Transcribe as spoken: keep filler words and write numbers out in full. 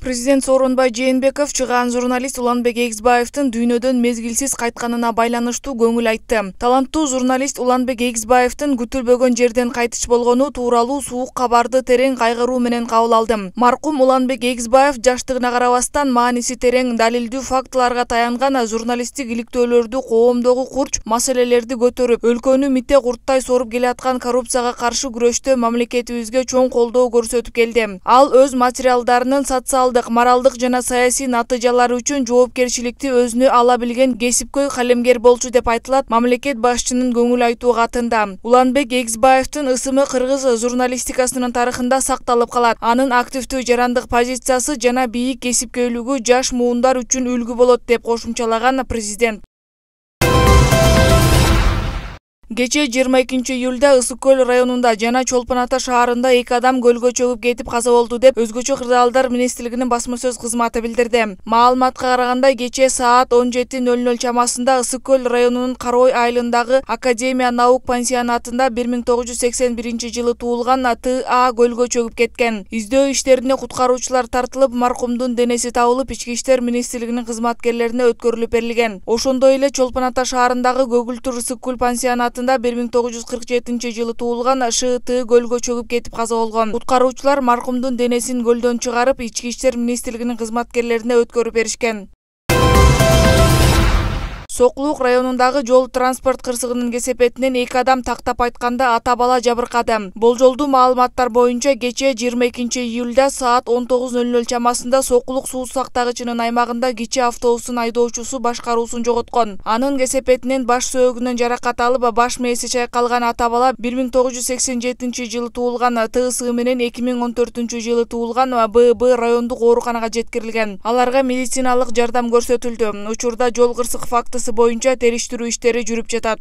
Президент Сооронбай Жээнбеков чыгаан журналист Уланбек Эгизбаевдин дүйнөдөн мезгилсиз кайтканына байланыштуу көңүл айтты. Таланттуу журналист Уланбек Эгизбаевдин күтүлбөгөн жерден кайтыш болгону тууралуу суук кабарды терең кайгыруу менен кабыл алдым. Маркум Уланбек Эгизбаев жаштыгына карабастан мааниси терең, далилдүү фактыларга таянган журналисттик иликтөөлөрдү, коомдогу курч маселелерди көтөрүп, өлкөнү митте курттай соруп келаткан коррупцияга каршы күрөштө мамлекетибизге чоң колдоо көрсөтүп келди. Ал өз материалдарынын социалдык, моралдык жана саясий натыйжалары үчүн жоопкерчиликти өзүнө ала билген кесипкөй калемгер болчу деп айтылат мамлекет башчынын көңүл айтуу катында. Уланбек Эгизбаевдин ысымы кыргыз журналистикасынын тарыхында сакталып калат. Анын активдүү жарандык позициясы жана бийик кесипкөйлүгү жаш муундар үчүн үлгү болот деп кошумчалаган президент. Кечээ жыйырма экинчи июлда Ысык көл районунда жана Чолпон Ата шаарында эки адам көлгө чөгүп кетип каза болду деп Өзгөчө кырдаалдар министрлигинин басма сөз кызматы билдирди. Маалыматка караганда кечээ саат он жети ноль ноль чамасында Ысык көл районунун Карой айылындагы Академия наук пансионатында бир миң тогуз жүз сексен биринчи жылы туулган Т А көлгө чөгүп кеткен. Издөө иштерине куткаруучулар тартылып, маркумдун денеси табылып, Ички иштер министрлигинин кызматкерлерине өткөрүлүп берилген. Ошондой эле Чолпон Ата шаарындагы Көгүлтүр Ысык көл пансионатында бир миң тогуз жүз кырк жетинчи жылы туулган Ш Т көлгө чөгүп кетип каза болгон. Куткаруучулар маркумдун денесин көлдөн чыгарып, Ички иштер министрлигинин кызматкерлерине өткөрүп беришкен. Сокулук районундагы жол транспорт кырсыгынын кесепетинен эки адам тактап айтканда ата бала жабыркады. Болжолдуу маалыматтар боюнча кечээ жыйырма экинчи июлда саат он тогуз ноль ноль чамасында Сокулук суу сактагычынын аймагында кичи автобустун айдоочусу башкаруусун жоготкон. Анын кесепетинен баш сөөгүнөн жаракат алып, баш мээси чайкалган ата бала бир миң тогуз жүз сексен жетинчи жылы туулган Т С менен эки миң он төртүнчү жылы туулган Б Б райондук ооруканага жеткирилген. Аларга медициналык жардам көрсөтүлдү. Учурда жол кырсык фактысы боюнча териштирүү иштери жүрүп жатат.